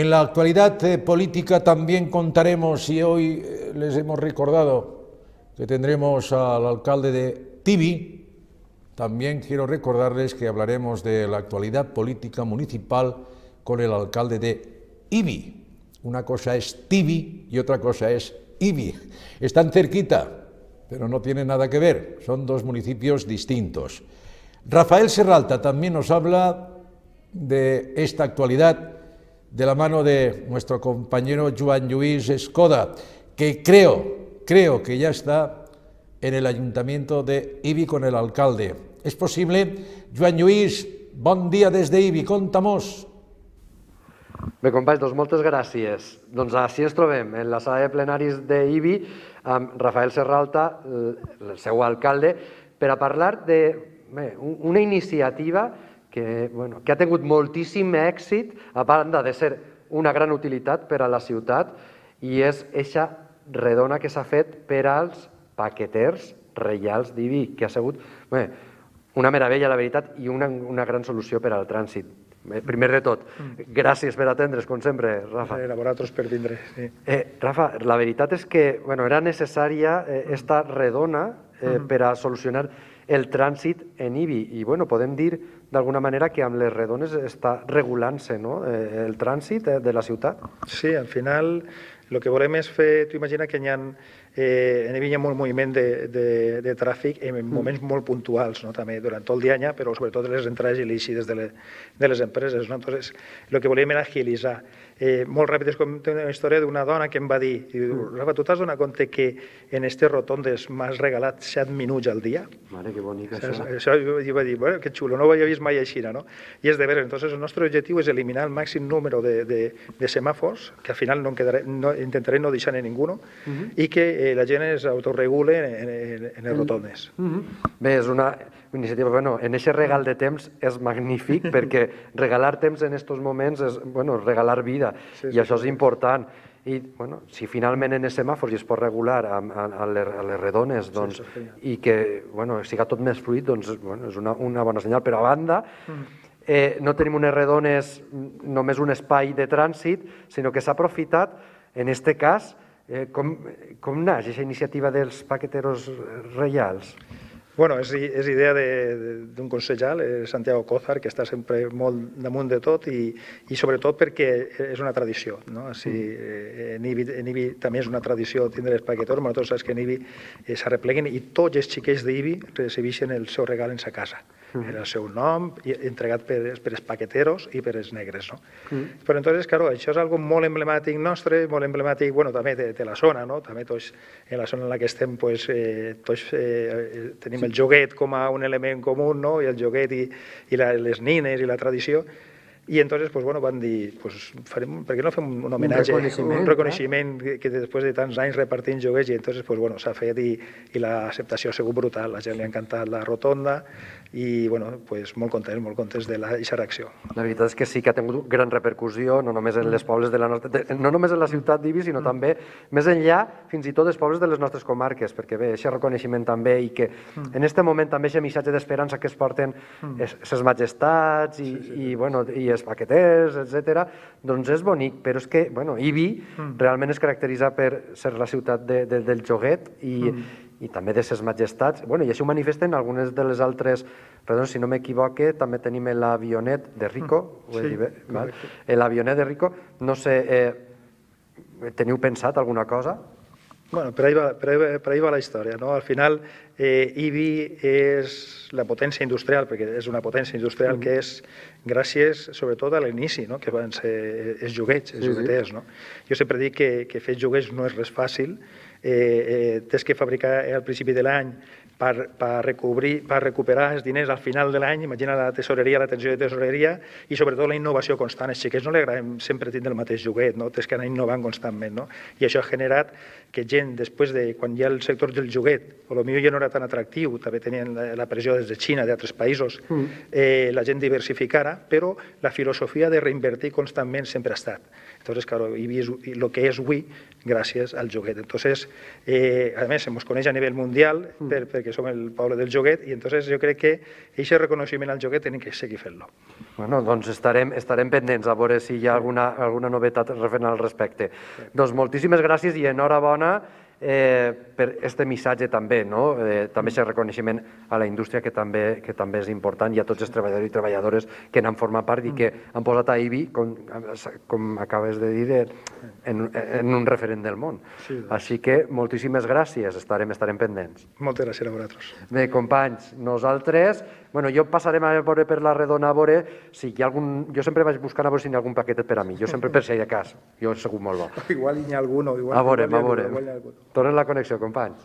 En la actualidad política también contaremos, y hoy les hemos recordado que tendremos al alcalde de Tibi, también quiero recordarles que hablaremos de la actualidad política municipal con el alcalde de Ibi. Una cosa es Tibi y otra cosa es Ibi. Están cerquita, pero no tienen nada que ver, son dos municipios distintos. Rafael Serralta también nos habla de esta actualidad de la mano de nuestro compañero Joan Lluís Escoda, que creo que ya está en el Ayuntamiento de Ibi con el alcalde. ¿Es posible? Joan Lluís, bon dia des d'Ibi, conta-mos. Bé, companys, doncs moltes gràcies. Doncs així ens trobem, en la sala de plenaris d'Ibi, amb Rafael Serralta, el seu alcalde, per a parlar d'una iniciativa que ha tingut moltíssim èxit, a banda de ser una gran utilitat per a la ciutat, i és eixa redona que s'ha fet per als paqueters reials d'Ibi, que ha sigut una meravella, la veritat, i una gran solució per al trànsit. Primer de tot, gràcies per atendre's, com sempre, Rafa. A vosaltres per vindre. Rafa, la veritat és que era necessària esta redona per a solucionar el trànsit en Ibi. I podem dir d'alguna manera que amb les redones està regulant-se el trànsit de la ciutat. Sí, al final el que volem és fer, tu imagina que en Ibi hi ha molt moviment de tràfic en moments molt puntuals, també durant tot el dia, però sobretot les entrades i les eixides de les empreses. Entonces, el que volíem era agilitzar. Molt ràpid, és com una història d'una dona que em va dir, Rafa, tu t'has donat compte que en aquestes rotondes m'has regalat 7 minuts al dia? Mare, que bonic això. Això jo vaig dir, que xulo, no ho havia vist mai així, no? I és de veure, entonces el nostre objectiu és eliminar el màxim número de semàfors, que al final intentaré no deixar-ne ningú, i que la gent es autorregule en les rotondes. Bé, és una iniciativa, en aquest regal de temps és magnífic, perquè regalar temps en aquests moments és regalar vida, i això és important. I si finalment en els semàfors es pot regular a les redones i que siga tot més fluid, doncs és una bona senyal. Però a banda, no tenim unes redones només un espai de trànsit, sinó que s'ha aprofitat, en aquest cas, com naix aquesta iniciativa dels paqueteros reials? És idea d'un consellal, Santiago Cózar, que està sempre molt damunt de tot i sobretot perquè és una tradició. En Ibi també és una tradició tindre els paquetors, però tots saps que en Ibi s'arrepleguen i tots els xiquets d'Ibi recibeixen el seu regal en sa casa, en el seu nom, entregat per els paqueteros i per els negres. Però entonces, clar, això és algo molt emblemàtic nostre, molt emblemàtic també de la zona, també tots en la zona en la que estem tots tenim el joguet com a un element comú, i el joguet i les nines i la tradició, i entonces van dir, per què no fem un homenatge, un reconeixement que després de tants anys repartint joguets, i entonces s'ha fet i l'acceptació ha sigut brutal, la gent li ha encantat la rotonda i molt contents d'aquesta reacció. La veritat és que sí que ha tingut gran repercussió, no només en les pobles de la nostra, no només en la ciutat d'Ibi, sinó també més enllà, fins i tot els pobles de les nostres comarques, perquè bé, aquest reconeixement també, i que en aquest moment també aquest missatge d'esperança que es porten ses majestats i els paqueters, etc., doncs és bonic, però és que Ibi realment es caracteritza per ser la ciutat del joguet i també de ses majestats, i això ho manifesten algunes de les altres, si no m'equivoque, també tenim l'avionet de Rico, l'avionet de Rico, no sé, teniu pensat alguna cosa? Per ahí va la història. Al final, Ibi és la potència industrial, perquè és una potència industrial que és gràcies, sobretot, a l'inici, que van ser els joguets, els jogueters. Jo sempre dic que fer joguets no és res fàcil. Tens que fabricar al principi de l'any per recuperar els diners al final de l'any, imagina la tesoreria, la tensió de tesoreria, i sobretot la innovació constant. Als xiquets no li agradem sempre tindre el mateix joguet, tens que anar innovant constantment. I això ha generat que gent, després de quan hi ha el sector del joguet, potser ja no era tan atractiu, també tenien la pressió des de Xina, d'altres països, la gent diversificara, però la filosofia de reinvertir constantment sempre ha estat. Entonces, claro, Ibi és el que és avui gràcies al joguet. Entonces, a més, ens coneix a nivell mundial perquè que som el poble del joguet, i entonces jo crec que aquest reconeixement al joguet tenim que seguir fent-lo. Bueno, doncs estarem pendents a veure si hi ha alguna novetat referent al respecte. Doncs moltíssimes gràcies i enhorabona per este missatge també, no? També aquest reconeixement a la indústria que també és important, i a tots els treballadors i treballadores que n'han format part i que han posat a IBI, com acabes de dir, en un referent del món. Així que moltíssimes gràcies, estarem pendents. Moltes gràcies a vosaltres. Bé, companys, nosaltres, jo passarem a veure per la Redona a veure si hi ha algun... Jo sempre vaig buscant a veure si hi ha algun paquetet per a mi, jo sempre per si hi ha cas, jo he sigut molt bo. Igual hi ha algun o igual... A veure. Tornem la connexió, companys.